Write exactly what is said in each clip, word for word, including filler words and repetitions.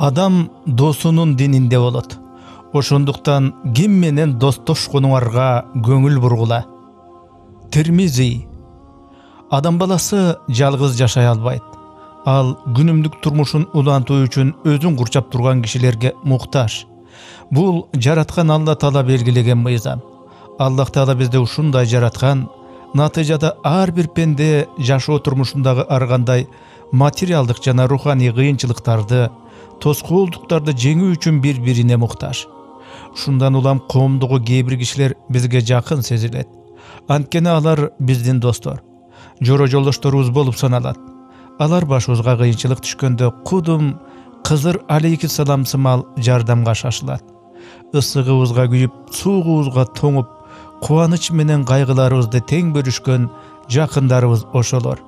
Адам досунун дининде болот. Ошондуктан ким менен достошконуңарга көңүл бургула. Термизи. Адам баласы жалгыз жашай албайт. Ал күнүмдүк турмушун улантуу үчүн өзүн курчап турган кишилерге муктаж. Бул жараткан Алла Таала белгилеген мыйзам. Аллах Таала бизди ушундай жараткан, натыйжада ар бир пенде жашоо турмушундагы ар кандай материалдык жана руханий кыйынчылыктарды, тоскоолдуктарды жеңүү үчүн бири-бирине муктаж. Шундан улам коомдогу кээ бир кишилер бизге жакын сезилет. Анткени алар биздин достор, жоро жолдошторубуз болуп саналат. Алар башыбызга кыйынчылык түшкөндө кудум Кызыр алейхиссалам сымал жардамга шашылат. Ысыгыбызга күйүп, суугубузга тоңуп, кубаныч менен кайгыларыбызды тең бөлүшкөн жакындарыбыз ошолор.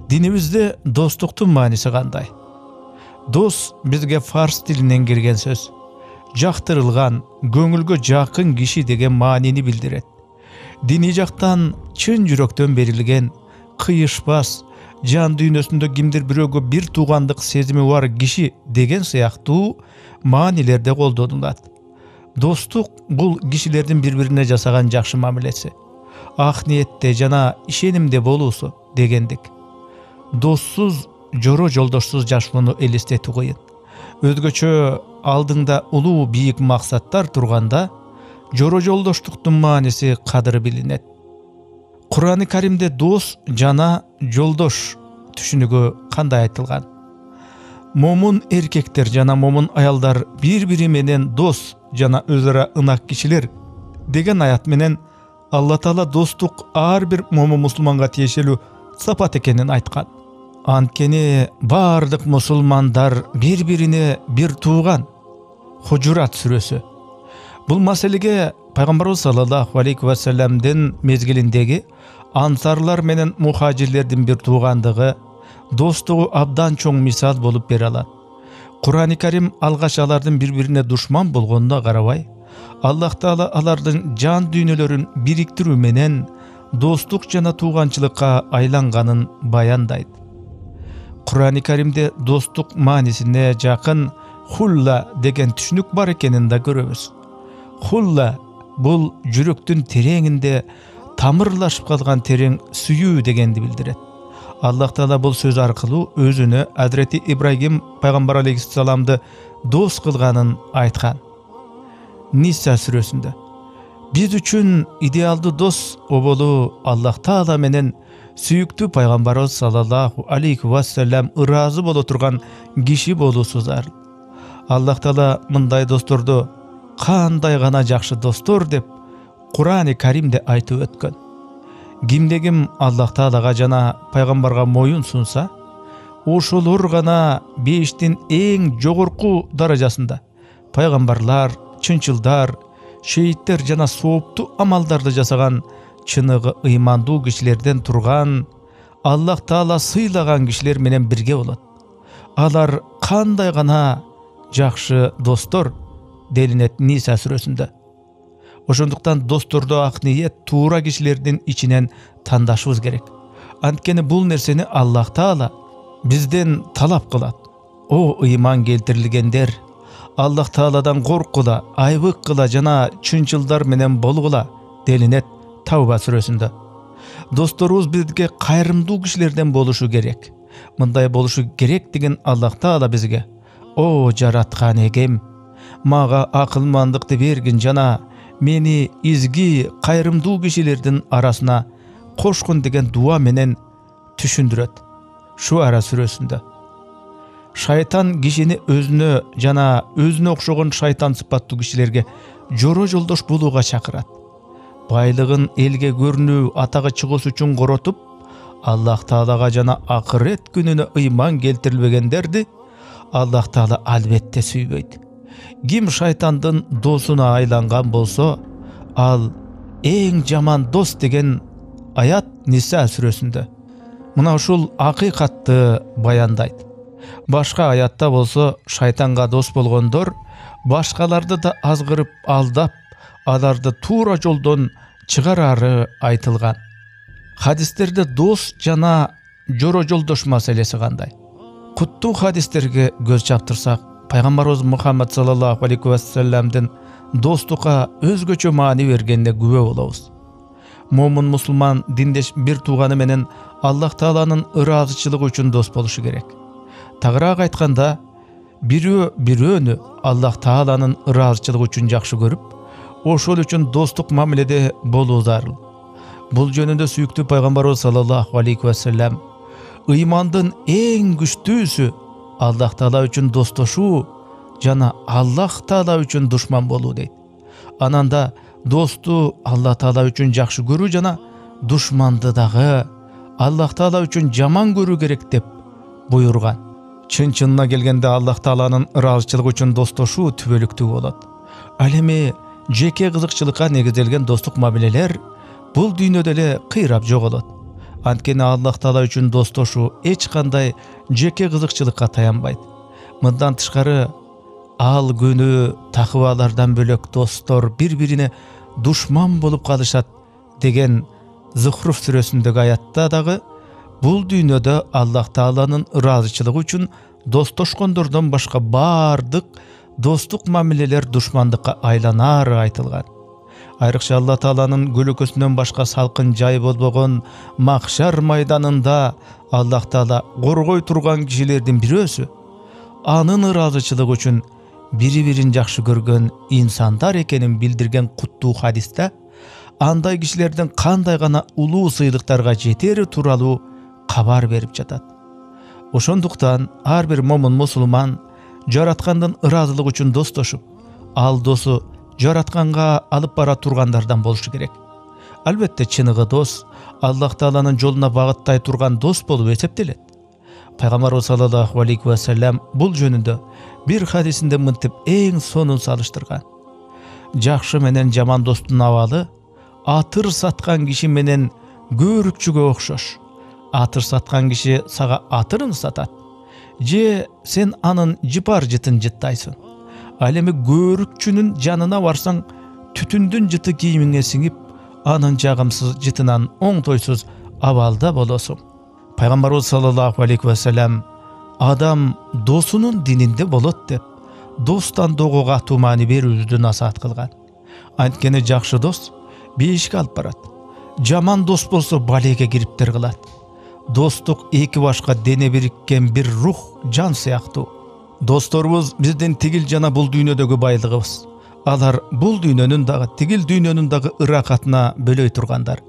Динибизде достуктун мааниси кандай? Дос бизге фарс тилинен келген сөз. Жактырылган, көңүлгө жакын киши деген маанини билдирет. Диний жактан чын жүрөктөн берилген, кыйышпас, жан дүйнөсүндө кимдир бирөөгө бир туугандык сезими бар киши деген сыяктуу маанилерде колдонулат. Достук бул кишилердин бири-бирине жасаган жакшы мамилеси, ак ниетте жана ишенимде болуусу дегендик. Доссуз, жоро жолдошсуз жашоону элестетүү кыйын. Өзгөчө алдыңда улуу бийик максаттар турганда, жоро жолдоштуктун мааниси кадыры билинет. Кур'ан-ы Каримде дос жана жолдош түшүнүгү кандай айтылган? Момун эркектер жана момун аялдар бири-бири менен дос жана өз ара ынак кишилер деген аят менен Алла Таала достук ар бир момун мусулманга тиешелүү сапат экенин айткан. Анткени бардык мусулмандар бири-бирине бир тууган. Хужурат сүрөсү. Бул маселеге Пайгамбарыбыз саллаллаху алейхи ва салламдын мезгилиндеги ансарлар менен мухажирлердин бир туугандыгы, достугу абдан чоң мисал болуп бере алат. Кур'ан-ы Карим алгач алардын бири-бирине душман болгонуна карабай, Аллах Таала алардын жан дүйнөлөрүн бириктирүү менен достук жана тууганчылыкка айланганын баяндайт. Кур'ан-ы Каримде достук маанисине жакын хулла деген түшүнүк бар экенин да көрөбүз. Хулла бул жүрөктүн тереңинде тамырлашып калган терең сүйүү дегенди билдирет. Аллах Таала бул сөз аркылуу өзүнө Азирети Ибрагим пайгамбар алейхиссаламды дос кылганын айткан. Ниса сүрөсүндө: Биз үчүн идеалдуу дос оболу Аллах Таала менен сүйүктүү пайгамбарыбыз саллаллаху алейхи ва саллям ыраазы боло турган киши болуусу зарыл. Аллах Таала мындай досторду кандай гана жакшы достор деп Кур'ан-ы Каримде айтып өткөн. Кимде ким Аллах Таалага жана пайгамбарга моюн сунса, ошолор гана бештин эң жогорку даражасында пайгамбарлар, чынчылдар, шейиттер жана сооптуу амалдарды жасаган чыныгы ыймандуу кишилерден турган, Аллах Таала сыйлаган кишилер менен бирге болот. Алар кандай гана жакшы достор делинет Ниса сүрөсүндө. Ошондуктан досторду ак ниет туура кишилердин ичинен тандашыбыз керек. Анткени бул нерсени Аллах Таала бизден талап кылат. О ыйман келтирилгендер, Аллах Тааладан коркула, айбык кыла жана чынчылдар менен болгула делинет Тауба сүрөсүндө. Досторубуз бизге кайрымдуу кишилерден болушу керек. Мындай болушу керек деген Аллах Таала бизге: О жараткан эгем, мага акылмандыкты бергин жана мени изги кайрымдуу кишилердин арасына кошкун деген дуа менен түшүндүрөт. Шуара сүрөсүндө. Шайтан кишини өзүнө жана өзүнө окшогон шайтан сыпаттуу кишилерге жоро жолдош болууга чакырат. Байлыгын элге көрүнүү, атагы чыгуусу үчүн коротуп, Аллах Таалага жана акырет күнүнө ыйман келтирилбегендерди Аллах Таала албетте сүйбөйт. Ким шайтандын досуна айланган болсо, ал эң жаман дос деген аят Ниса сүрөсүндө. Мына ушул акыйкатты баяндайт. Башка аятта болсо, шайтанга дос болгондор башкаларды да азгырып, алдап, аларды туура жолдон чыгарары айтылган. Хадистерде дос жана жоро жолдош маселеси кандай? Куттуу хадистерге көз чаптырсак, пайгамбарыбыз Мухаммад саллаллаху алейхи вассаламдын достукка өзгөчө маани бергенине күбө болобуз. Момун мусулман диндеш бир тууганы менен Аллах Тааланын ыраазычылыгы үчүн дос болушу керек. Тагыраак айтканда, бирөө бирөөнү Аллах Тааланын ыраазычылыгы үчүн жакшы көрүп, ошол үчүн достук мамиледе болуу зарыл. Бул жөнүндө сүйүктүү пайгамбарыбыз саллаллаху алейхи вассалам ыймандын эң күчтүүсү Аллах Таала үчүн достошуу жана Аллах Таала үчүн душман болуу дейт. Ананда досту Аллах Таала үчүн жакшы көрүү жана душманды дагы Аллах Таала үчүн жаман көрүү керек деп буйруган. Чын-чынына келгенде Аллах Тааланын ыраазычылыгы үчүн достошуу түбөлүктүү болот. Ал эми жеке кызыкчылыкка негизделген достук мамилелер бул дүйнөдө эле кыйрап жоголот. Анткени Аллах Таала үчүн достошуу эч кандай жеке кызыкчылыкка таянбайт. Мындан тышкары, ал күнү такыбалардан бөлөк достор бири-бирине душман болуп калышат деген Зухруф сүрөсүндөгү аятта дагы бул дүйнөдө Аллах Тааланын ыраазычылыгы үчүн достошкондордон башка бардык достук мамилелер душмандыкка айланары айтылган. Айрыкча Аллах Тааланын көлөкөсүнөн башка салкын жай болбогон махшар майданында Аллах Таала коргой турган кишилердин бирөөсү анын ыраазычылыгы үчүн бири-бирин жакшы көргөн инсандар экенин билдирген куттуу хадисте андай кишилердин кандай гана улуу сыйлыктарга жетери тууралуу кабар берип жатат. Ошондуктан ар бир момун мусулман жараткандын ыраазылыгы үчүн достошуп, ал досу жаратканга алып бара тургандардан болушу керек. Албетте чыныгы дос Аллах Тааланын жолуна багыттай турган дос болуп эсептелет. Пайгамбарыбыз саллаллаху алейхи вассалам бул жөнүндө бир хадисинде мынтип эң сонун салыштырган. Жакшы менен жаман достун абалы атыр саткан киши менен көөрүкчүгө окшош. Атыр саткан киши сага атырын сатат, же сен анын жыпар жытын жыттайсың. Ал эми көөрүкчүнүн жанына барсаң, түтүндүн жыты кийимиңе сиңип, анын жагымсыз жытынан оңтойсуз абалда болосуң. Пайгамбарыбыз саллаллаху алейхи вассалам адам досунун дининде болот деп, достан дого катуу маани берүүбүздү насаат кылган. Анткени жакшы дос бейишке алып барат. Жаман дос болсо балеге кириптер кылат. Достук эки башка дене бириккен бир рух, жан сыяктуу. Досторубуз биздин тигил жана бул дүйнөдөгү байлыгыбыз. Алар бул дүйнөнүн дагы, тигил дүйнөнүн дагы ыракатына бөлөй тургандар.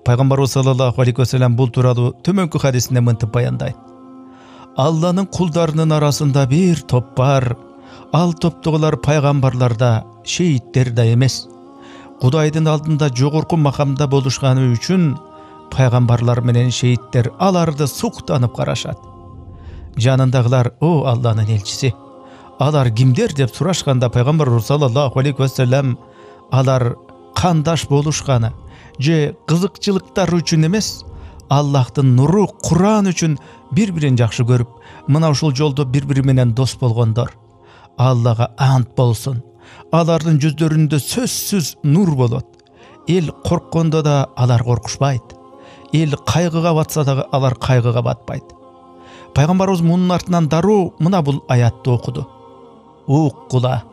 Пайгамбарыбыз саллаллаху алейхи вассалам бул тууралуу төмөнкү хадисинде мынтип баяндайт. Алланын кулдарынын арасында бир топ бар. Ал топтогулар пайгамбарлар да, шейиттер да эмес. Кудайдын алдында жогорку макамда болушканы үчүн пайгамбарлар менен шейиттер аларды суктанып карашат. Жанындагылар: "О Алланын элчиси, алар кимдер?" деп сурашканда пайгамбарыбыз саллаллаху алейхи вассалам алар кандаш болушканы же кызыкчылыктар үчүн эмес, Аллахтын нуру Куран үчүн бири-бирин жакшы көрүп, мына ушул жолдо бири-бири менен дос болгондор. Аллага ант болсун, алардын жүздөрүндө сөзсүз нур болот. Эл корккондо да алар коркушпайт. Эл кайгыга батса дагы алар кайгыга батпайт. Пайгамбарыбыз мунун артынан дароо мына бул аятты окуду. Уккула.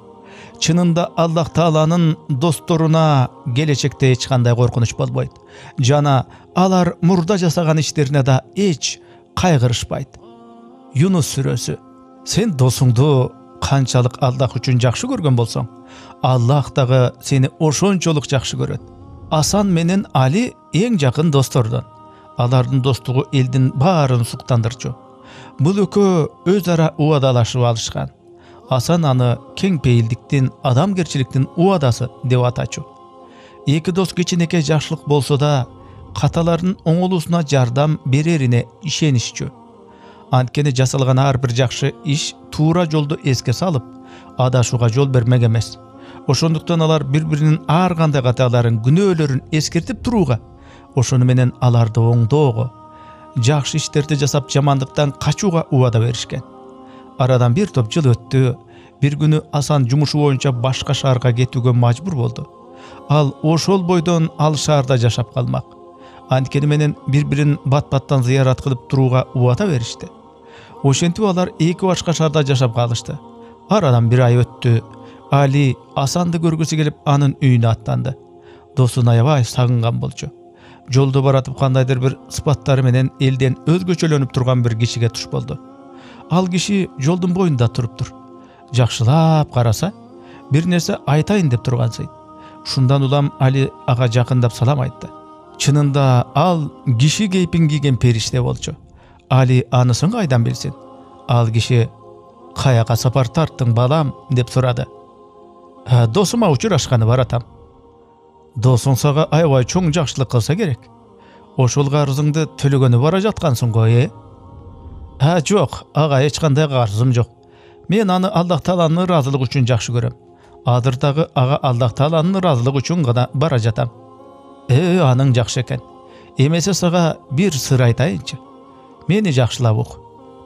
Чынында Аллах Тааланын досторуна келечекте эч кандай коркунуч болбойт. Жана алар мурда жасаган иштерине да эч кайгырышпайт. Юнус сүрөсү. Сен досуңду канчалык Аллах үчүн жакшы көргөн болсоң, Аллах дагы сени ошончолук жакшы көрөт. Асан менен Али эң жакын достордон. Алардын достугу элдин баарын суктандырчу. Бул экөө өз ара убадалашып алышкан. Асан аны кең пейилдиктин, адамгерчиликтин убадасы деп атачу. Эки дос кичинекей жакшылык болсо да, каталардын оңолуусуна жардам берерине ишенишчү. Анткени жасалган ар бир жакшы иш туура жолду эске салып, адашууга жол бермек эмес. Ошондуктан алар бири-биринин ар кандай каталарын, күнөөлөрүн эскертип турууга, ошону менен аларды оңдоого, жакшы иштерди жасап жамандыктан качууга убада беришкен. Арадан бир топ жыл өттү. Бир күнү Асан жумушу боюнча башка шаарга кетүүгө мажбур болду. Ал ошол бойдон ал шаарда жашап калмак. Анткени менен бири-бирин бат-баттан зыярат кылып турууга убада беришти. Ошентип алар эки башка шаарда жашап калышты. Арадан бир ай өттү. Али Асанды көргүсү келип анын үйүнө аттанды. Досун аябай сагынган болчу. Жолдо баратып кандайдыр бир сыпаттары менен элден өзгөчөлөнүп турган бир кишиге туш болду. Ал киши жолдун боюнда туруптур. Жакшылап караса, бир нерсе айтайын деп тургансый. Шундан улам Али ага жакындап салам айтты. Чынында ал киши кейпин кийген периште болчу. Али анысын кайдан билсин? Ал киши «Каяка сапар тарттың балам?» деп сурады. «Досума учурашканы баратам». «Досуң сага аябай чоң жакшылык кылса керек. Ошол карызыңды төлөгөнү бара жаткансың го, э?» «А, жок, ага эч кандай карызым жок. Мен аны Аллах Тааланын ыраазылыгы үчүн жакшы көрөм. Азыр дагы ага Аллах Тааланын ыраазылыгы үчүн гана бара жатам». «Э, аның жакшы экен. Эмесе сага бир сыр айтайынчы. Мени жакшылап ук.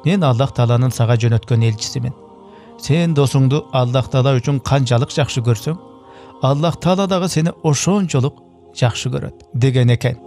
Мен Аллах Тааланын сага жөнөткөн элчисимин. Сен досуңду Аллах Таала үчүн канчалык жакшы көрсөң, Аллах Таала дагы сени ошончолук жакшы көрөт» деген экен.